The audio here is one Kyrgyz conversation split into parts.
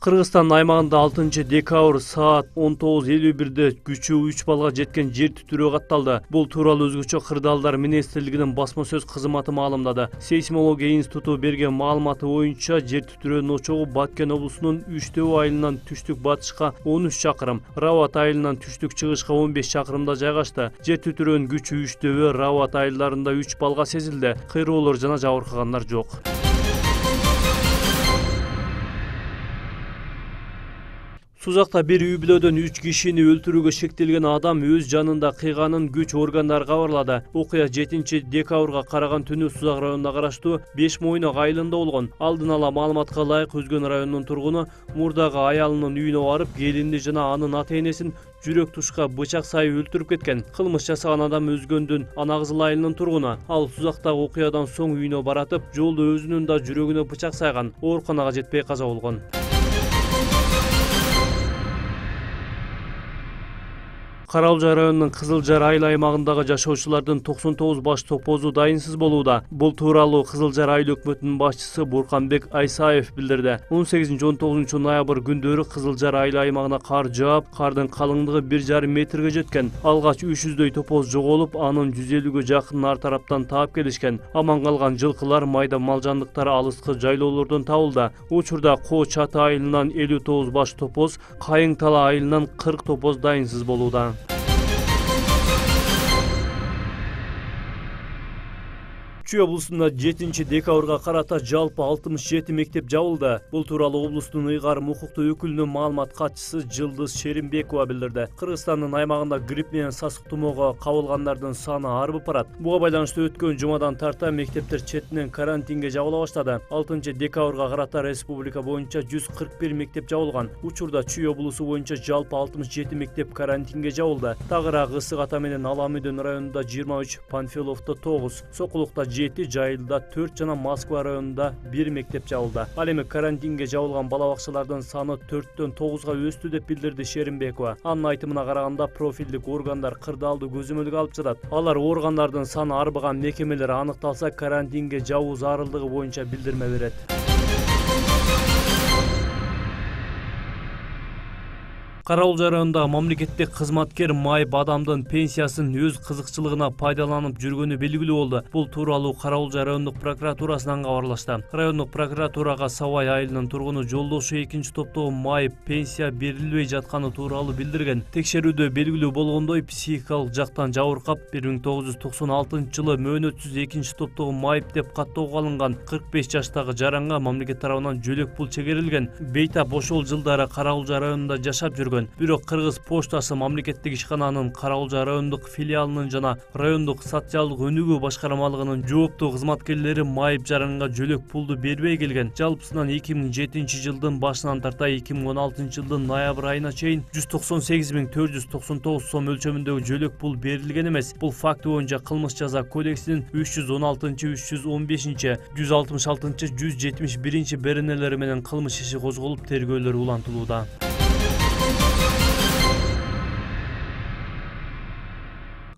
Кыргызстан аймагында 6-декабрь саат 19:51 күчү 3 балга жеткен жер титирөө катталды. Бул тууралуу Өзгөчө кырдаалдар министрлигинин басма сөз кызматы маалымдады. Сейсмология институту берген маалыматы боюнча жер титирөөнүн очогу Баткен облусунун Үчтөбө айылынан түштүк батышка 13 чакырым, Рават айылынан түштүк чыгышка 15 чакырымда жайгашты. Жер титирөөнүн күчү Үчтөбө, Рават айылдарында 3 балга сезилди. Кыйроолор жана жабыркагандар жок. Сузакта бир үй-бүлөдөн 3 кишини өлтүрүүгө шектелген адам өз жанында кыйганын күч органдары кабарлады. Окуя 7-декабрга караган түнү Сузак районуна караштуу 5 Мойнок айылында болгон. Алдын ала маалыматка ылайык Өзгөн районунун тургуну мурдагы аялынын үйүнө барып, келинди жана анын ата-энесин жүрөк тушка бычак сайып өлтүрүп кеткен. Кылмыш жасаган адам Өзгөндүн Ана Кызыл айылынын тургуну. Ал Сузактагы окуядан соң үйүнө баратып, жолдо өзүнүн да жүрөгүнө бычак сайган. Ооруканага жетпей каза болгон. Каралжа районунун Кызылжар айыл аймагындагы жашоочулардын 99 баш топозу дайынсыз болууда. Бул тууралуу Кызылжар айыл өкмөтүнүн башчысы Бурканбек Айсаев билдирди. 18-19 ноябрь күндөрү Кызылжар айыл аймагына кар жаап, кардын калыңдыгы 1,5 метрге жеткен. Алгач 300дөй топоз жоголуп, анын 150ге жакын ар тараптан таап келишкен. Аман калган жылкылар, майда мал жандыктар алыскы жайлоолордон табылды. Учурда Коо Чаты айылынан 59 баш топоз, Кайың Тала айылынан 40 топоз дайынсыз болууда. Чүй облусунда 7-декабрга карата жалпы 67 мектеп жабылды. Бул тууралуу облустун ыйгарым укуктуу өкүлүнүн маалымат катчысы Жылдыз Шеримбекова билдирди. Кыргызстандын аймагында грипп менен сасык тумоого кабылгандардын саны арбып барат. Буга байланыштуу өткөн жумадан тарта мектептер четинен карантинге жабыла баштады. 6-декабрга карата республика боюнча 141 мектеп жабылган. Учурда Чүй облусу боюнча жалпы 67 мектеп карантинге жабылды. Тагыраак ысык ата менен Аламүйдөн районунда 23, Панфиловдо 9, Сокулукта 7, Жайылда 4 жана Москва районунда 1 мектеп жабылды. Ал эми карантинге жабылган бала бакчалардын саны 4-төн 9га өстү деп билдирди Шеримбекова. Анын айтымына караганда профилдик органдар кырдаалды көзөмөлгө алып жатат. Алар органдардын саны арбыган мекемелер аныкталса карантинге жабуу зарылдыгы боюнча билдирме берет. Каралжа районундагы мамлекеттик кызматкер майып адамдын пенсиясын өз кызыкчылыгына пайдаланып жүргөнү белгилүү болду. Бул тууралуу Каралжа райондук прокуратурасынан кабарлашты. Райондук прокуратурага Сабай айылынын тургуну жолдошу 2-топтогу майып пенсия берилбей жатканы тууралуу билдирген. Текшерүүдө белгилүү болгондой, психикалык жактан жабыркап 1996-жылы мөөнөтсүз 2-топтогу майып деп каттоого алынган 45 жаштагы жаранга мамлекет тарабынан жөлөк пул чегерилген. Бейтап ошол жылдары Каралжа районунда жашап жүргөн. Бирок Кыргыз поштасы мамлекеттик ишкананын Каралжа райондук филиалынын жана райондук социалдык өнүгүү башкармалыгынын жооптуу кызматкерлери майып жаранга жөлөк пулду бербей келген. Жалпысынан 2007-жылдын башынан тарта 2016-жылдын ноябрь айына чейин 198.499 сом өлчөмүндөгү жөлөк пул берилген эмес. Бул факт боюнча кылмыш жаза кодексинин 316, 315, 166, 171 беренелери менен кылмыш иши козголуп, тергөөлөр улантылууда.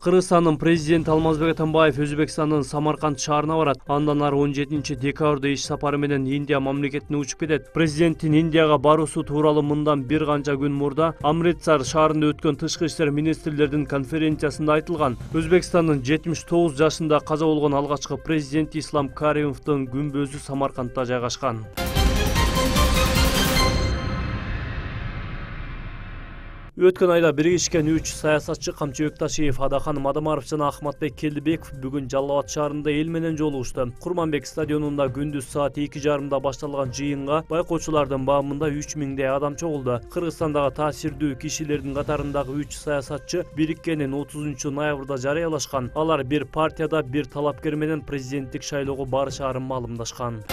Кыргызстандын президенти Алмазбек Атамбаев Өзбекстандын Самарканд шаарына барат. Андан ары 17-декабрда иш сапары менен Индия мамлекетине учуп кетет. Президенттин Индияга баруусу тууралуу мындан бир канча күн мурда Амритсар шаарында өткөн тышкы иштер министрлердин конференциясында айтылган. Өзбекстандын 79 жашында каза болгон алгачкы президент Ислам Каримовдун күмбөзү Самаркандда жайгашкан. Өткөн айда биригишкен 3 саясатчы Камчыбек Ташиев, Адахан Мадамаров жана Ахматбек Келдибеков бүгүн Жалал Абад шаарында эл менен жолугушту. Курманбек стадионунда күндүз саат 2:30 башталган жыйынга байкоочулардын баамында 3000дей адам чогулду. Кыргызстандагы таасирдүү кишилердин катарындагы 3 саясатчы бириккенин 30 ноябрда жарыялашкан. Алар бир партияда бир талапкер менен президенттик шайлоого барышаарын маалымдашкан.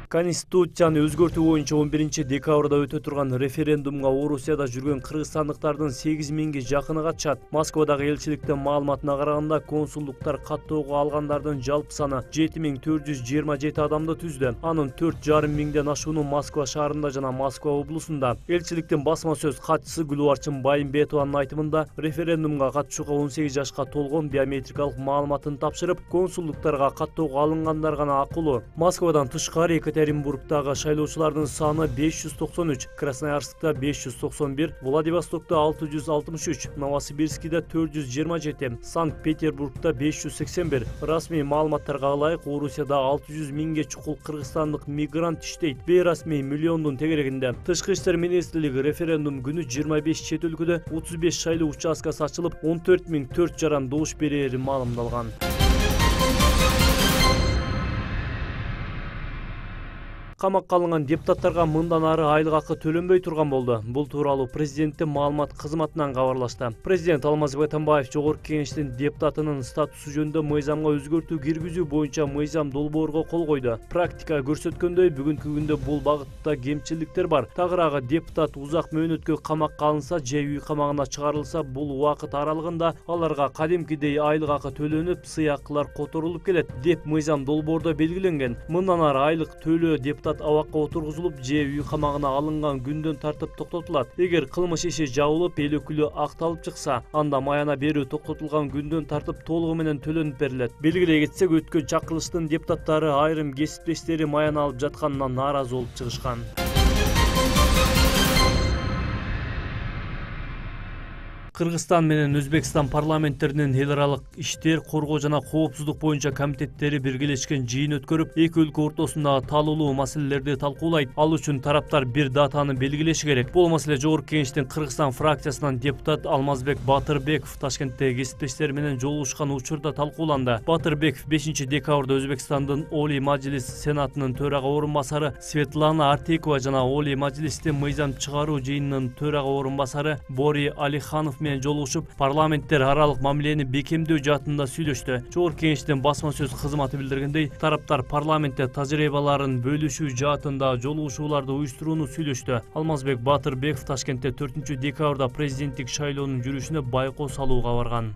Конституцияны өзгөртүү боюнча 11 декабрда өтө турган референдумга Орусияда жүргөн кыргызстандыктардын 8.000ге жакыны катышат. Москвадагы элчиликтин маалыматына караганда, консулдуктар каттоого алгандардын жалпы саны 7427 адамды түздү. Анын 4,5 миңден ашууну Москва шаарында жана Москва облусунда. Элчиликтин басма сөз катчысы Гүлбарчын Байымбетованын айтымында, референдумга катышууга 18 жашка толгон биометрикалык маалыматын тапшырып, консулдуктарга каттоого алынгандар гана акылуу. Москвадан тышкары Екатеринбургдагы шайлоочулардын саны 593, Красноярскта 591, Владивостокто 663, Новосибирскиде 427, Санкт-Петербургда 581. Расмий маалыматтарга ылайык, Орусияда 600 миңге чукул кыргызстандык мигрант иштейт. Бейрасмий миллиондун тегерегинде. Тышкы иштер министрлиги референдум күнү 25 чет өлкөдө 35 шайлоо участкасы ачылып, 14.4 жаран добуш берери маалымдалган. Камакка алынган депутаттарга мындан ары айлык акы төлөнбөй турган болду. Бул тууралуу президенттин маалымат кызматынан кабарлашты. Президент Алмазбек Атамбаев Жогорку Кеңештин депутатынын статусу жөнүндө мыйзамга өзгөртүү киргизүү боюнча мыйзам долбоорго кол койду. Практика көрсөткөндөй, бүгүнкү күндө бул багытта кемчиликтер бар. Тагыраагы депутат узак мөөнөткө камакка алынса же үй камагына чыгарылса, бул убакыт аралыгында аларга кадимкидей айлык акы төлөнүп, сыйакылар которулуп келет деп мыйзам долбоордо белгиленген. Мындан ары айлык төлөө депутат абакка отургузулуп же үй камагына алынган күндөн тартып токтотулат. Эгер кылмыш иши жабылып, эл өкүлү акталып чыкса, анда маяна берүү токтотулган күндөн тартып толугу менен төлөнүп берилет. Белгилей кетсек, өткөн чакырылыштын депутаттары айрым кесиптештери маяна алып жатканынан нааразы болуп чыгышкан. Кыргызстан менен Өзбекстан парламенттеринин эл аралык иштер, коргоо жана коопсуздук боюнча комитеттери биргелешкен жыйын өткөрүп, эки өлкө ортосундагы талуулуу маселелерди талкуулайт. Ал үчүн тараптар бир датаны белгилеши керек. Бул маселе Жогорку Кеңештин Кыргызстан фракциясынан депутат Алмазбек Батырбеков Ташкентте кесиптештери менен жолугушкан учурда талкууланды. Батырбеков 5 декабрда Өзбекстандын Олий Мажлис Сенатынын төрага орун басары Светлана Артекова жана Олий Мажлистин мыйзам чыгаруу жыйынынын төрага орун басары Бори Алиханов жолугушуп, парламенттер аралык мамилени бекемдөө жаатында сүйлөштү. Жогорку Кеңештин басма сөз кызматы билдиргендей, тараптар парламентте тажрыйбаларын бөлүшүү жаатында жолугушууларды уюштурууну сүйлөштү. Алмазбек Батырбеков Ташкентте 4 декабрда президенттик шайлоонун жүрүшүнө байкоо салууга барган.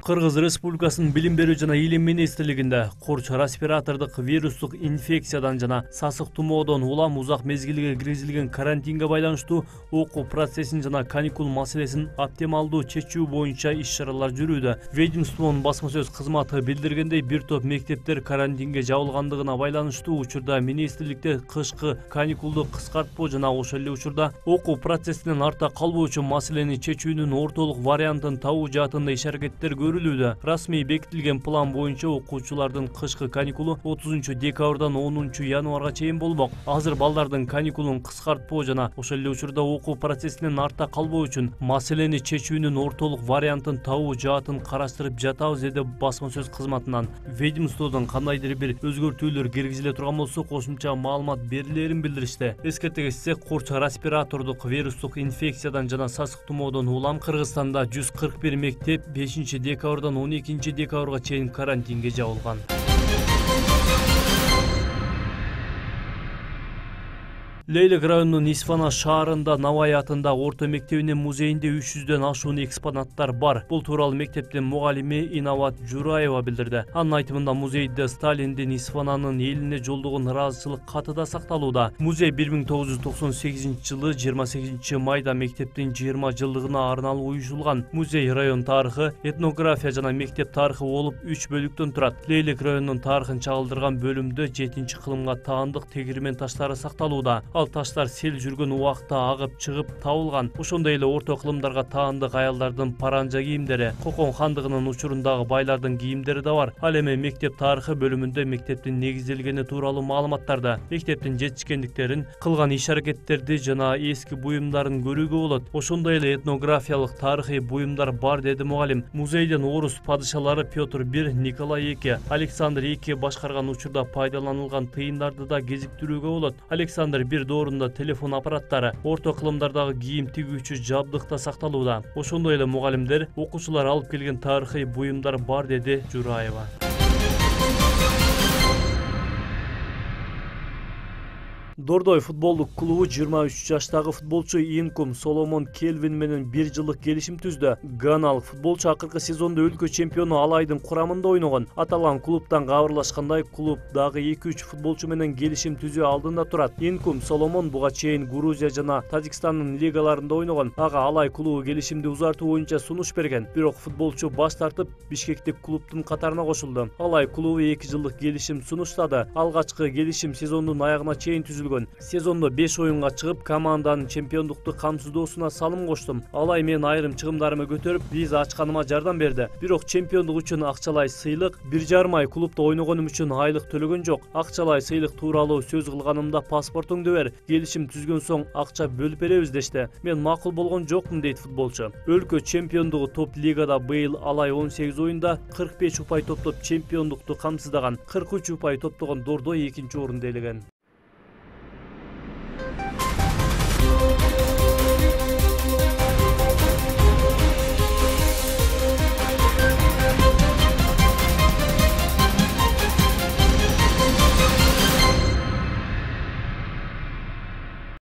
Кыргыз Республикасынын Билим берүү жана Илим министрлигинде корч респиратордук вирустук инфекциядан жана сасык тумоодон улам узак мезгилге киргизилген карантинге байланыштуу окуу процессин жана каникул маселесин оптималдуу чечүү боюнча иш-чаралар жүрүүдө. Ведомствонун басма сөз кызматы билдиргендей, бир топ мектептер карантинге жабылгандыгына байланыштуу учурда министрликте кышкы каникулду кыскартпоо жана ошол эле учурда окуу процессинен артта калбоо үчүн маселени чечүүнүн ортолук вариантын табуу жаатында иш-аракеттер Расмий бекитилген план боюнча окуучулардын кышкы каникулу 30 декабрдан 10 январга чейин болмок. Азыр балдардын каникулун кыскартпоо жана ошол эле учурда окуу процессинен артта калбоо үчүн маселени чечүүнүн ортолук вариантын табуу жаатын караштырып жатабыз, деди басма сөз кызматынан. Ведомстводон кандайдыр бир өзгөртүүлөр киргизиле турган болсо, кошумча маалымат берилерин билдиришти. Эскерте кетсек, корч респиратордук вирустук инфекциядан жана сасык тумоодон улам Кыргызстанда 141 мектеп 5 декабрдан 12 декабрга чейин карантинге жабылган. Лейлек районунун Исфана шаарында Навай атындагы орто мектебинин музейинде 300дөн ашуун экспонаттар бар. Бул тууралуу мектептин мугалими Инават Жураева билдирди. Анын айтымында, музейде Сталиндин Исфананын элине жолдогон ыраазычылык каты да сакталууда. Музей 1998-жылы 28 майда мектептин 20 жылдыгына арналып уюштурулган. Музей район тарыхы, этнография жана мектеп тарыхы болуп 3 бөлүктөн турат. Лейлек районунун тарыхын чагылдырган бөлүмдө 7-кылымга таандык тегирмен таштары сакталууда. Ал таштар сел жүргөн убакта агып чыгып табылган. Ошондой эле орто кылымдарга таандык аялдардын паранжа кийимдери, Кокон хандыгынын учурундагы байлардын кийимдери да бар. Ал эми мектеп тарыхы бөлүмүндө мектептин негизделгени тууралуу маалыматтарды, мектептин жетишкендиктерин, кылган иш-аракеттерди жана эски буюмдарын көрүүгө болот. Ошондой эле этнографиялык тарыхый буюмдар бар, деди мугалим. Музейден орус падышалары Петр I, Николай II, Александр II башкарган учурда пайдаланылган тыйындарды да кезиктирүүгө болот. Александр I бир доорунда телефон аппараттары, орто кылымдардагы кийим тигүүчү жабдык да сакталууда. Ошондой эле мугалимдер, окуучулар алып келген тарыхый буюмдар бар, деди Жураева. Дордой футболдук клубу 23 жаштагы футболчу Инкум Соломон Келвин менен 1 жылдык келишим түздү. Ганалык футболчу акыркы сезондо өлкө чемпиону Алайдын курамында ойногон. Аталган клубтан кабарлашкандай, клуб дагы 2-3 футболчу менен келишим түзүү алдында турат. Инкум Соломон буга чейин Грузия жана Тажикстандын лигаларында ойногон. Ага Алай клубу келишимди узартуу боюнча сунуш берген. Бирок футболчу баш тартып, Бишкектик клубтун катарына кошулду. Алай клубу 2 жылдык келишим сунуштады. Алгачкы келишим сезондун аягына чейин түзүлгөн. Сезондо 5 оюнга чыгып, команданын чемпиондукту камсыздоосуна салым коштум. Алай менин айрым чыгымдарымы көтөрүп, виза ачканыма жардам берди. Бирок чемпиондук үчүн акчалай сыйлык, 1,5 ай клубда ойногонум үчүн айлык төлөгөн жок. Акчалай сыйлык тууралуу сөз кылганымда паспортуңду бер, келишим түзгөн соң акча бөлүп беребиз дешти. Мен макул болгон жокмун, дейт футболчу. Өлкө чемпиондугу топ лигада быйыл Алай 18 оюнда 45 упай топтоп чемпиондукту камсыздаган. 43 упай топтогон Дордой 2-орунда ээлеген.